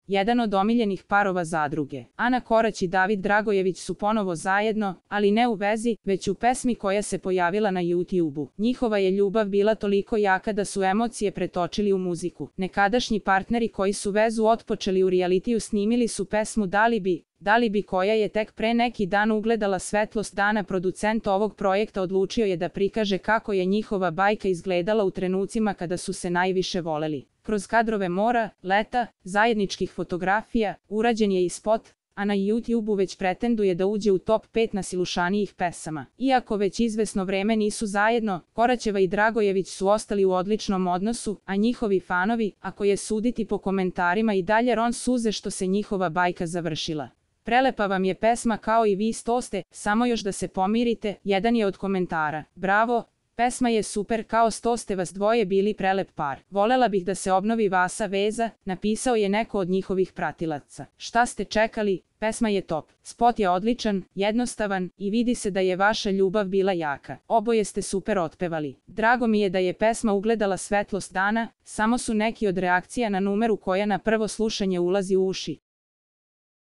jedan od omiljenih parova zadruge. Ana Korać i David Dragojević su ponovo zajedno, ali ne u vezi, već u pesmi koja se pojavila na YouTube-u. Njihova je ljubav bila toliko jaka da su emocije pretočili u muziku. Nekadašnji partneri koji su vezu otpočeli u realitiju snimili su pesmu Da li bi koja je tek pre neki dan ugledala svetlost dana. Producent ovog projekta odlučio je da prikaže kako je njihova bajka izgledala u trenucima kada su se najviše voleli. Kroz kadrove mora, leta, zajedničkih fotografija, urađen je i spot, a na YouTube-u već pretenduje da uđe u top 5 najslušanijih pesama. Iako već izvesno vreme nisu zajedno, Koraćeva i Dragojević su ostali u odličnom odnosu, a njihovi fanovi, ako je suditi po komentarima, i dalje ron suze što se njihova bajka završila. Prelepa vam je pesma kao i vi ste, samo još da se pomirite, jedan je od komentara. Bravo, pesma je super, kao ste vas dvoje bili prelep par. Volela bih da se obnovi vasa veza, napisao je neko od njihovih pratilaca. Šta ste čekali? Pesma je top. Spot je odličan, jednostavan i vidi se da je vaša ljubav bila jaka. Oboje ste super otpevali. Drago mi je da je pesma ugledala svetlost dana, samo su neki od reakcija na numeru koja na prvo slušanje ulazi u uši.